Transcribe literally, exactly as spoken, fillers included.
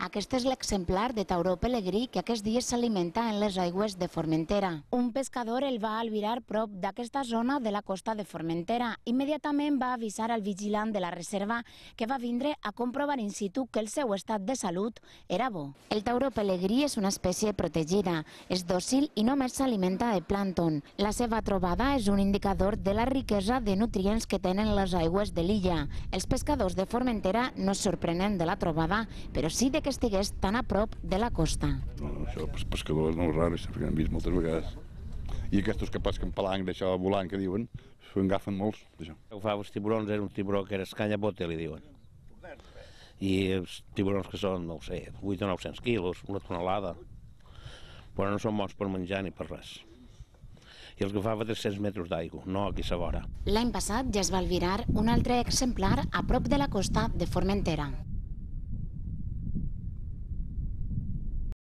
Aquest és l'exemplar de tauró pelegrí que aquests dies s'alimenta en les aigües de Formentera. Un pescador el va albirar prop d'aquesta zona de la costa de Formentera. Immediatament va avisar al vigilant de la reserva, que va vindre a comprovar in situ que el seu estat de salut era bo. El tauró pelegrí és una espècie protegida, és dòcil i només s'alimenta de plàncton. La seva trobada és un indicador de la riquesa de nutrients que tenen les aigües de l'illa. Els pescadors de Formentera no es sorprenen de la trobada, però sí de que estigués tan a prop de la costa. No, això, els pescadors no és rar, perquè hem vist moltes vegades. I aquests que pesquen palanc d'això volant que diuen, s'ho agafen molts, d'això. Agafava els tiburons, era un tiburó que era escanyabote, li diuen. I els tiburons que són, no ho sé, vuit o nou-cents quilos, una tonelada, però no són bons per menjar ni per res. I els agafava tres-cents metres d'aigua, no aquí a la vora. L'any passat ja es va albirar un altre exemplar a prop de la costa de Formentera.